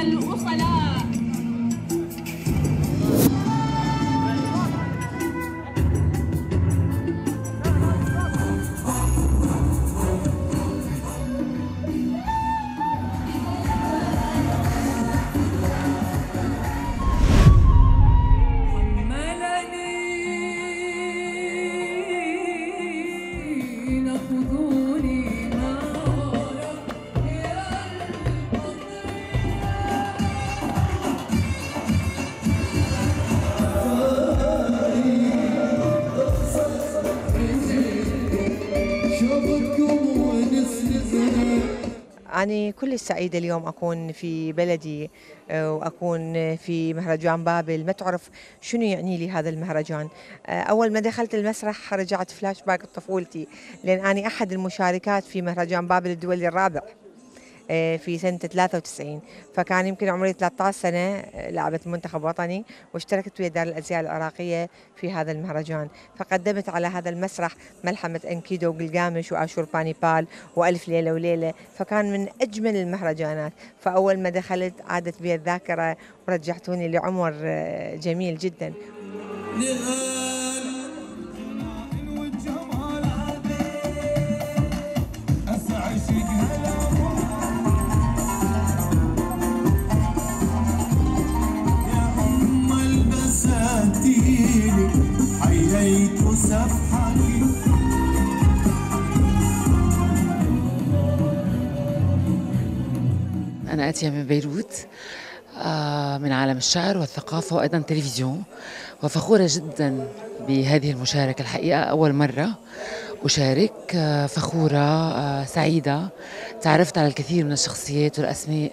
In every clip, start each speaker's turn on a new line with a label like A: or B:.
A: الأصلاء.
B: أنا كل سعيدة اليوم أكون في بلدي وأكون في مهرجان بابل. ما تعرف شنو يعني لي هذا المهرجان. أول ما دخلت المسرح رجعت فلاش باك طفولتي، لأن أنا أحد المشاركات في مهرجان بابل الدولي الرابع في سنة 93. فكان يمكن عمري 13 سنة، لعبت منتخب وطني واشتركت ويا دار الأزياء العراقية في هذا المهرجان. فقدمت على هذا المسرح ملحمة أنكيدو وقلقامش وآشور بانيبال وألف ليلة وليلة، فكان من أجمل المهرجانات. فأول ما دخلت عادت بي الذاكرة ورجعتوني لعمر جميل جدا.
C: حييت سفحك.
D: أنا آتية من بيروت، من عالم الشعر والثقافة وأيضا التلفزيون، وفخورة جدا بهذه المشاركة. الحقيقة أول مرة أشارك، فخورة سعيدة. تعرفت على الكثير من الشخصيات والأسماء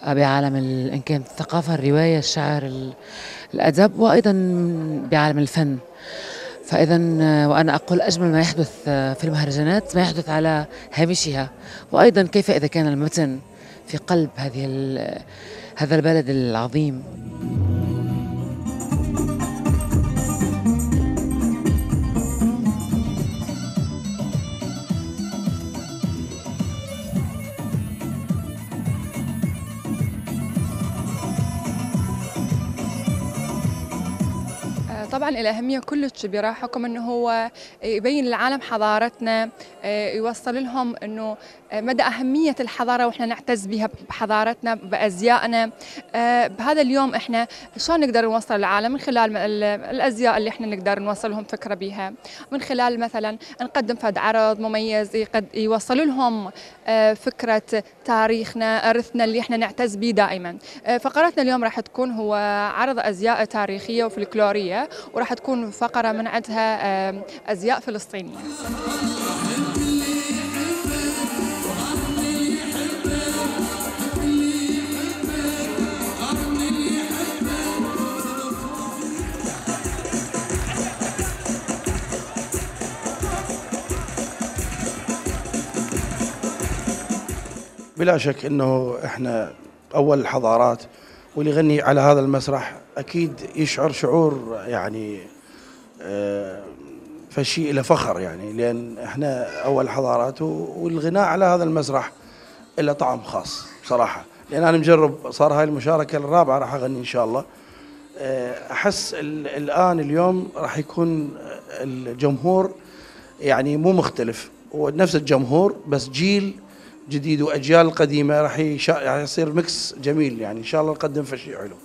D: بعالم إن كانت الثقافة، الرواية، الشعر، الأدب، وأيضا بعالم الفن. فإذا وأنا أقول أجمل ما يحدث في المهرجانات ما يحدث على هامشها، وأيضا كيف إذا كان المتن في قلب هذا البلد العظيم.
E: طبعا الأهمية كلش كبيرة، حكم أنه هو يبين للعالم حضارتنا، يوصل لهم أنه مدى أهمية الحضارة وإحنا نعتز بها بحضارتنا بأزيائنا. بهذا اليوم إحنا شلون نقدر نوصل للعالم؟ من خلال الأزياء اللي إحنا نقدر نوصل لهم فكرة بها، من خلال مثلا نقدم فد عرض مميز يوصل لهم فكرة تاريخنا، إرثنا اللي إحنا نعتز به دائما. فقرتنا اليوم راح تكون هو عرض أزياء تاريخية وفلكلورية، وراح تكون فقرة من عندها أزياء فلسطينية.
F: بلا شك انه احنا اول الحضارات، واللي يغني على هذا المسرح اكيد يشعر شعور يعني فشيء له فخر، يعني لان احنا اول الحضارات، والغناء على هذا المسرح له طعم خاص بصراحه. لان انا مجرب، صار هاي المشاركه الرابعه راح اغني ان شاء الله. احس الان اليوم راح يكون الجمهور يعني مو مختلف، هو نفس الجمهور بس جيل جديد واجيال قديمه، راح يصير ميكس جميل، يعني ان شاء الله نقدم شيء حلو.